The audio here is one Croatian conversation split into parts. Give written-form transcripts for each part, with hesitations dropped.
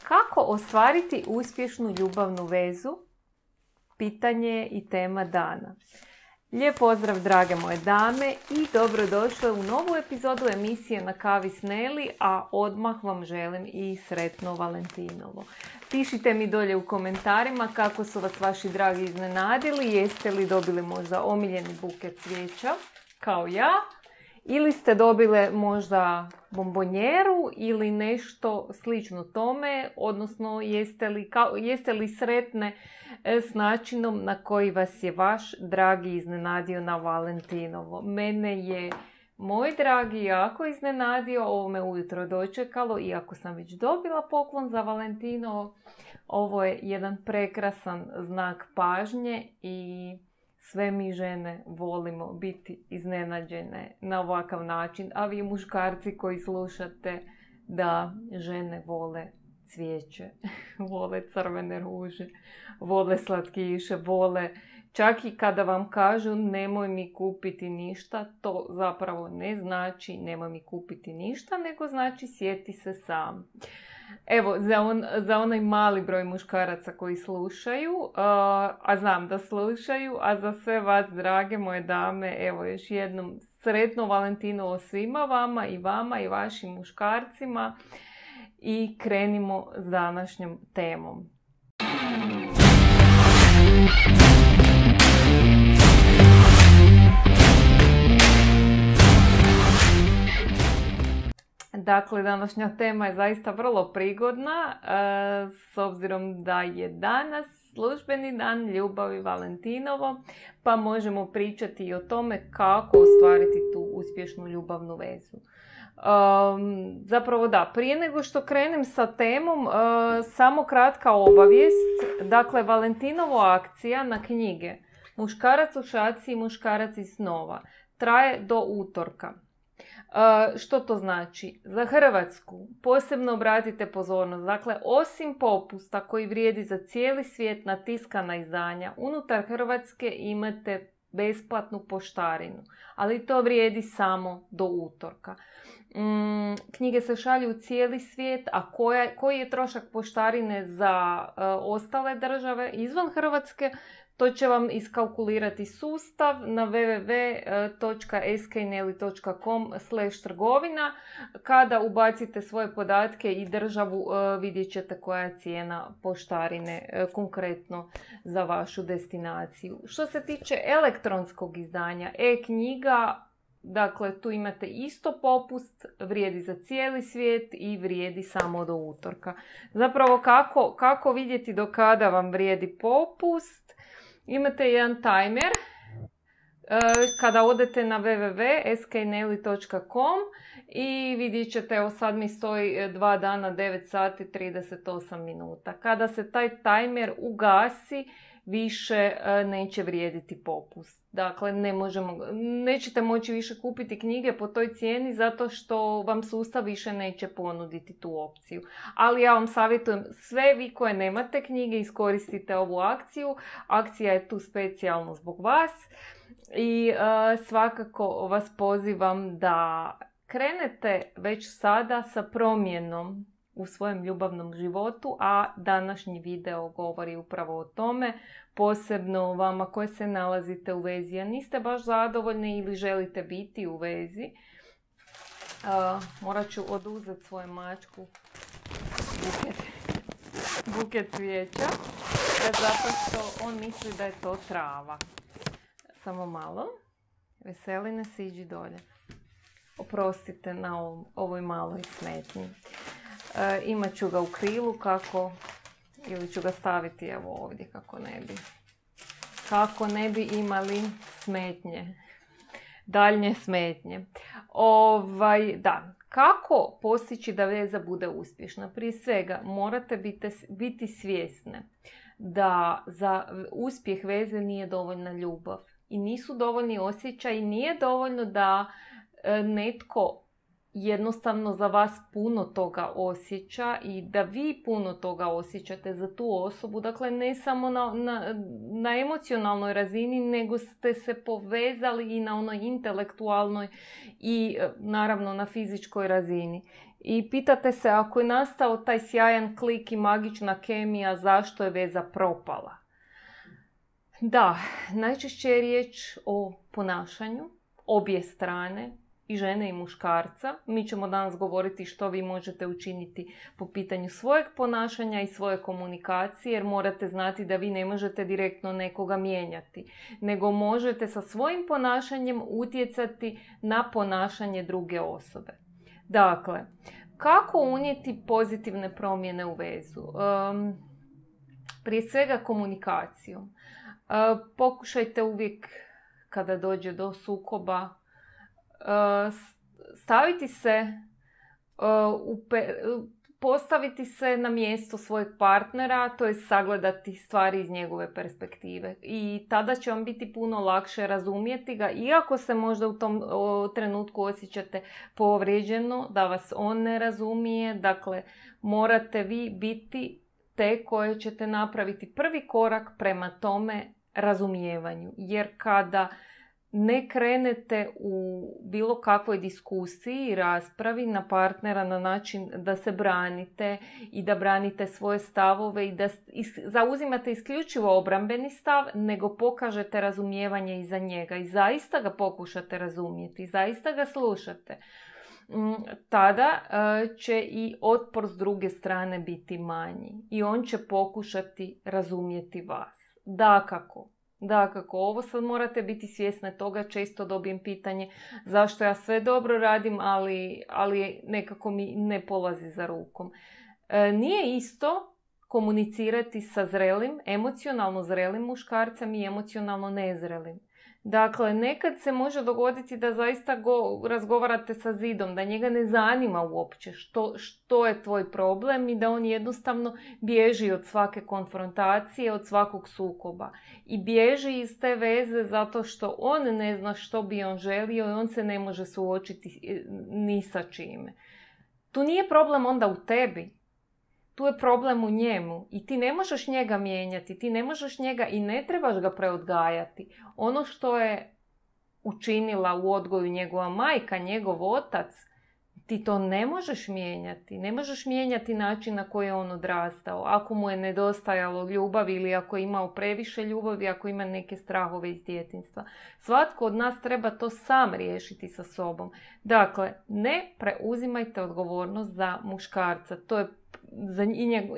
Kako ostvariti uspješnu ljubavnu vezu? Pitanje i tema dana. Lijep pozdrav drage moje dame i dobrodošle u novu epizodu emisije Na kavi s Neli, a odmah vam želim i sretno Valentinovo. Pišite mi dolje u komentarima kako su vas vaši dragi iznenadili, jeste li dobili možda omiljeni buket cvijeća kao ja, ili ste dobile možda bombonjeru ili nešto slično tome, odnosno jeste li sretne s načinom na koji vas je vaš dragi iznenadio na Valentinovo. Mene je moj dragi jako iznenadio, ovo me ujutro dočekalo, iako sam već dobila poklon za Valentinovo. Ovo je jedan prekrasan znak pažnje i sve mi žene volimo biti iznenađene na ovakav način, a vi muškarci koji slušate da žene vole cvijeće, vole crvene ruže, vole slatkiše, vole čak i kada vam kažu nemoj mi kupiti ništa, to zapravo ne znači nemoj mi kupiti ništa, nego znači sjeti se sam. Evo, za onaj mali broj muškaraca koji slušaju, a znam da slušaju, a za sve vas, drage moje dame, evo još jednom sretno Valentinovo svima vama i vašim muškarcima i krenimo s današnjom temom. Dakle, današnja tema je zaista vrlo prigodna, s obzirom da je danas službeni dan ljubavi Valentinovo, pa možemo pričati i o tome kako ostvariti tu uspješnu ljubavnu vezu. Zapravo da, prije nego što krenem sa temom, samo kratka obavijest. Dakle, Valentinovo akcija na knjige Muškarac u šaci i Muškarac iz snova traje do utorka. Što to znači? Za Hrvatsku posebno obratite pozornost. Dakle, osim popusta koji vrijedi za cijeli svijet na tiskana izdanja, unutar Hrvatske imate besplatnu poštarinu, ali to vrijedi samo do utorka. Knjige se šalju u cijeli svijet, a koji je trošak poštarine za ostale države izvan Hrvatske, to će vam iskalkulirati sustav na www.skneli.com/trgovina. Kada ubacite svoje podatke i državu, vidjet ćete koja je cijena poštarine konkretno za vašu destinaciju. Što se tiče elektronskog izdanja, e-knjiga, dakle tu imate isto popust, vrijedi za cijeli svijet i vrijedi samo do utorka. Zapravo kako vidjeti do kada vam vrijedi popust? Imate jedan timer. Kada odete na www.skneli.com i vidjet ćete, evo sad mi stoji 2 dana 9 sati 38 minuta. Kada se taj timer ugasi, više neće vrijediti popust. Dakle, nećete moći više kupiti knjige po toj cijeni zato što vam sustav više neće ponuditi tu opciju. Ali ja vam savjetujem, sve vi koje nemate knjige, iskoristite ovu akciju. Akcija je tu specijalno zbog vas i svakako vas pozivam da krenete već sada sa promjenom u svojem ljubavnom životu, a današnji video govori upravo o tome, posebno vama koje se nalazite u vezi, a niste baš zadovoljni ili želite biti u vezi. Morat ću oduzeti svoju mačku buket cvijeća, zato što on misli da je to trava. Samo malo. Veseline, siđi dolje. Oprostite na ovoj maloj smetnji. Imat ću ga u krilu ili ću ga staviti evo ovdje kako ne bi imali smetnje, daljnje smetnje. Da, kako postići da veza bude uspješna? Prije svega morate biti svjesne da za uspjeh veze nije dovoljna ljubav i nisu dovoljni osjećaji, nije dovoljno da netko jednostavno za vas puno toga osjeća i da vi puno toga osjećate za tu osobu. Dakle, ne samo na emocionalnoj razini, nego ste se povezali i na onoj intelektualnoj i naravno na fizičkoj razini. I pitate se, ako je nastao taj sjajan klik i magična kemija, zašto je veza propala? Da, najčešće je riječ o ponašanju obje strane, i žene i muškarca. Mi ćemo danas govoriti što vi možete učiniti po pitanju svojeg ponašanja i svoje komunikacije, jer morate znati da vi ne možete direktno nekoga mijenjati, nego možete sa svojim ponašanjem utjecati na ponašanje druge osobe. Dakle, kako unijeti pozitivne promjene u vezu? Prije svega komunikacijom. Pokušajte uvijek kada dođe do sukoba postaviti se na mjesto svojeg partnera, to je sagledati stvari iz njegove perspektive. I tada će vam biti puno lakše razumjeti ga, iako se možda u tom trenutku osjećate povrijeđeno, da vas on ne razumije. Dakle, morate vi biti te koje ćete napraviti prvi korak prema tome razumijevanju. Jer kada ne krenete u bilo kakvoj diskusiji i raspravi na partnera na način da se branite i da branite svoje stavove i da zauzimate isključivo obrambeni stav, nego pokažete razumijevanje iza njega i zaista ga pokušate razumjeti, zaista ga slušate, tada će i otpor s druge strane biti manji i on će pokušati razumjeti vas. Dakako, ovo sad morate biti svjesni toga, često dobijem pitanje zašto ja sve dobro radim, ali nekako mi ne polazi za rukom. Nije isto komunicirati sa zrelim, emocionalno zrelim muškarcem i emocionalno nezrelim. Dakle, nekad se može dogoditi da zaista razgovarate sa zidom, da njega ne zanima uopće što je tvoj problem i da on jednostavno bježi od svake konfrontacije, od svakog sukoba. I bježi iz te veze zato što on ne zna što bi on želio i on se ne može suočiti ni sa čime. Tu nije problem onda u tebi. Tu je problem u njemu i ti ne možeš njega mijenjati, ti ne možeš njega i ne trebaš ga preodgajati. Ono što je učinila u odgoju njegova majka, njegov otac, ti to ne možeš mijenjati. Ne možeš mijenjati način na koji je on odrastao. Ako mu je nedostajalo ljubavi ili ako je imao previše ljubavi, ako ima neke strahove iz djetinjstva. Svatko od nas treba to sam riješiti sa sobom. Dakle, ne preuzimajte odgovornost za muškarca. To je za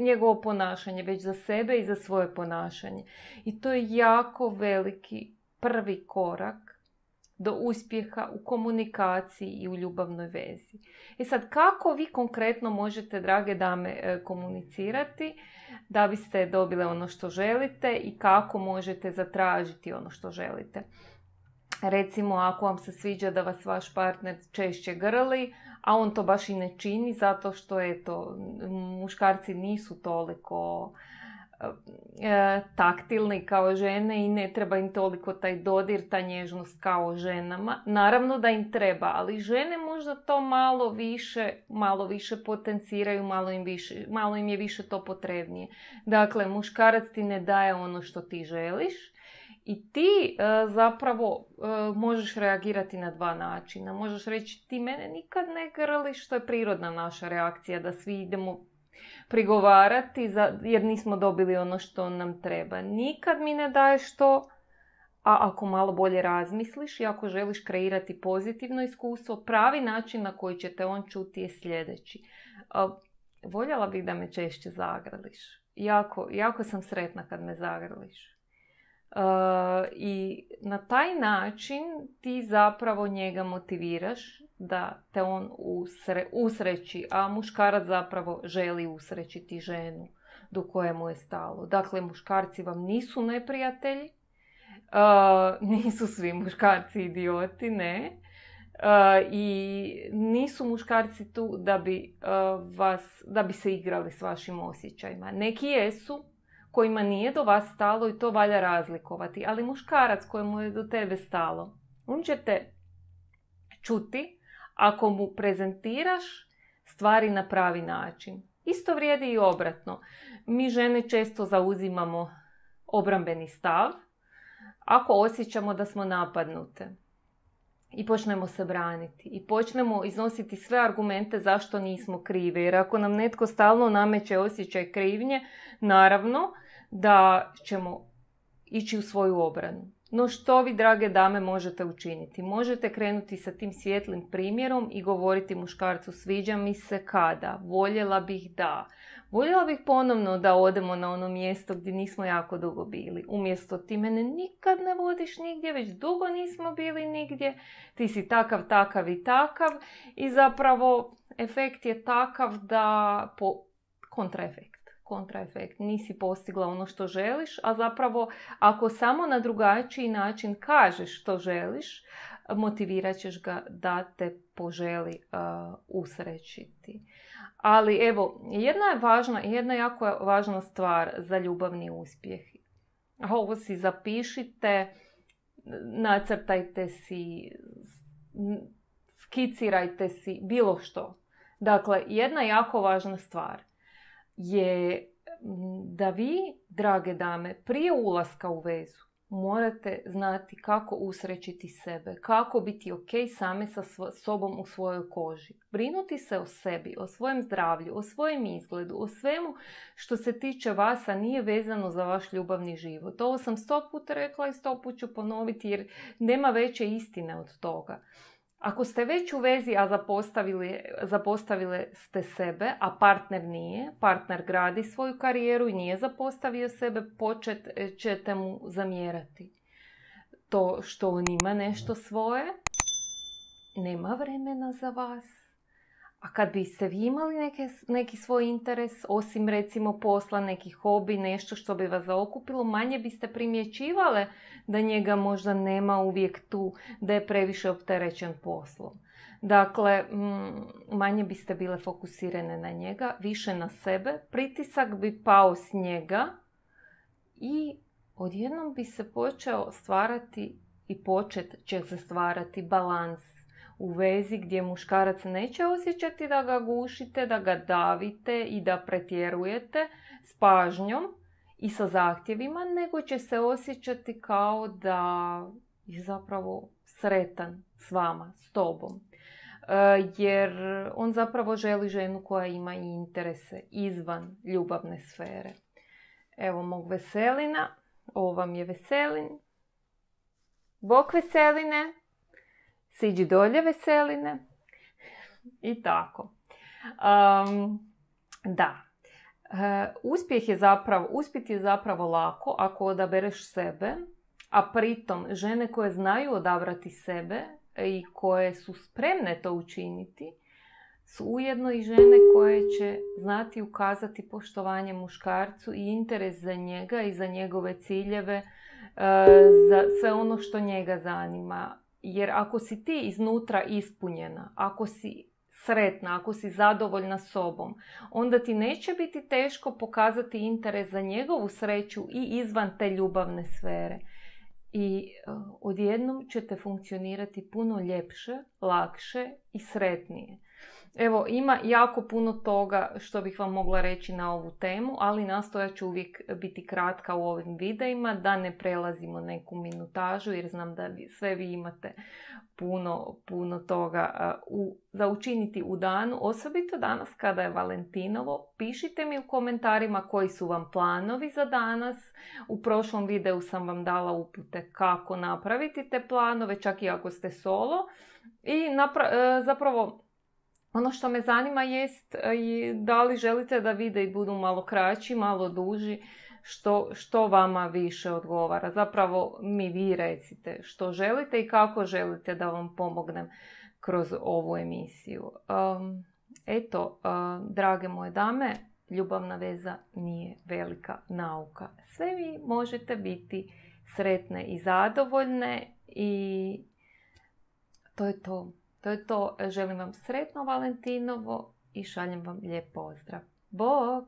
njegovo ponašanje, već za sebe i za svoje ponašanje. I to je jako veliki prvi korak do uspjeha u komunikaciji i u ljubavnoj vezi. I sad, kako vi konkretno možete, drage dame, komunicirati da biste dobile ono što želite i kako možete zatražiti ono što želite? Recimo, ako vam se sviđa da vas vaš partner češće grli, a on to baš i ne čini zato što muškarci nisu toliko taktilni kao žene i ne treba im toliko taj dodir, ta nježnost kao ženama. Naravno da im treba, ali žene možda to malo više potenciraju, malo im je više to potrebnije. Dakle, muškarac ti ne daje ono što ti želiš i ti zapravo možeš reagirati na dva načina. Možeš reći ti mene nikad ne grliš, što je prirodna naša reakcija da svi idemo prigovarati jer nismo dobili ono što nam treba. Nikad mi ne daješ to, a ako malo bolje razmisliš i ako želiš kreirati pozitivno iskustvo, pravi način na koji će te on čuti je sljedeći. Voljela bih da me češće zagrliš. Jako sam sretna kad me zagrliš. I na taj način ti zapravo njega motiviraš da te on usreći, a muškarac zapravo želi usrećiti ženu do koje mu je stalo. Dakle, muškarci vam nisu neprijatelji, nisu svi muškarci idioti, ne. I nisu muškarci tu da bi se igrali s vašim osjećajima. Neki jesu, kojima nije do vas stalo i to valja razlikovati. Ali muškarac kojemu je do tebe stalo, on će te čuti ako mu prezentiraš stvari na pravi način. Isto vrijedi i obratno. Mi žene često zauzimamo obrambeni stav ako osjećamo da smo napadnute. i počnemo se braniti i počnemo iznositi sve argumente zašto nismo krive. Jer ako nam netko stalno nameće osjećaj krivnje, naravno da ćemo ići u svoju obranu. No što vi, drage dame, možete učiniti? Možete krenuti sa tim svijetlim primjerom i govoriti muškarcu: sviđa mi se kada, voljela bih da. Voljela bih ponovno da odemo na ono mjesto gdje nismo jako dugo bili. Umjesto ti mene nikad ne vodiš nigdje, već dugo nismo bili nigdje, ti si takav, takav i takav i zapravo efekt je takav da kontraefekt. Nisi postigla ono što želiš, a zapravo ako samo na drugačiji način kažeš što želiš, motivirat ćeš ga da te poželi usrećiti. Ali evo, jedna jako važna stvar za ljubavni uspjeh. Ovo si zapišite, nacrtajte si, skicirajte si, bilo što. Dakle, jedna jako važna stvar je da vi, drage dame, prije ulaska u vezu morate znati kako usrećiti sebe, kako biti ok same sa sobom u svojoj koži. Brinuti se o sebi, o svojem zdravlju, o svojem izgledu, o svemu što se tiče vas, a nije vezano za vaš ljubavni život. Ovo sam 100 puta rekla i 100 puta ću ponoviti jer nema veće istine od toga. Ako ste već u vezi, a zapostavili ste sebe, a partner nije, partner gradi svoju karijeru i nije zapostavio sebe, počet ćete mu zamjerati. To što on ima nešto svoje, nema vremena za vas. A kad biste vi imali neki svoj interes, osim recimo posla, neki hobi, nešto što bi vas zaokupilo, manje biste primjećivale da njega možda nema uvijek tu, da je previše opterećen poslom. Dakle, manje biste bile fokusirane na njega, više na sebe, pritisak bi pao s njega i odjednom bi se počeo stvarati i počet će se stvarati balans u vezi gdje muškarac neće osjećati da ga gušite, da ga davite i da pretjerujete s pažnjom i sa zahtjevima, nego će se osjećati kao da je zapravo sretan s vama, s tobom. Jer on zapravo želi ženu koja ima i interese izvan ljubavne sfere. Evo mog Veselina, ovo vam je Veselin. Bok Veseline! Siđi dolje Veseline. I tako. Uspjeti je zapravo lako ako odabereš sebe, a pritom žene koje znaju odabrati sebe i koje su spremne to učiniti, su ujedno i žene koje će znati ukazati poštovanje muškarcu i interes za njega i za njegove ciljeve, za sve ono što njega zanima. Jer ako si ti iznutra ispunjena, ako si sretna, ako si zadovoljna sobom, onda ti neće biti teško pokazati interes za njegovu sreću i izvan te ljubavne sfere. I odjednom ćete funkcionirati puno ljepše, lakše i sretnije. Evo, ima jako puno toga što bih vam mogla reći na ovu temu, ali nastojat ću uvijek biti kratka u ovim videima, da ne prelazimo neku minutažu, jer znam da sve vi imate puno toga za učiniti u danu, osobito danas kada je Valentinovo. Pišite mi u komentarima koji su vam planovi za danas. U prošlom videu sam vam dala upute kako napraviti te planove, čak i ako ste solo. I zapravo ono što me zanima jest da li želite da videi budu malo kraći, malo duži, što vama više odgovara. Zapravo mi vi recite što želite i kako želite da vam pomognem kroz ovu emisiju. Drage moje dame, ljubavna veza nije velika nauka. Sve vi možete biti sretne i zadovoljne i to je to. To je to. Želim vam sretno Valentinovo i šaljem vam lijep pozdrav. Bog!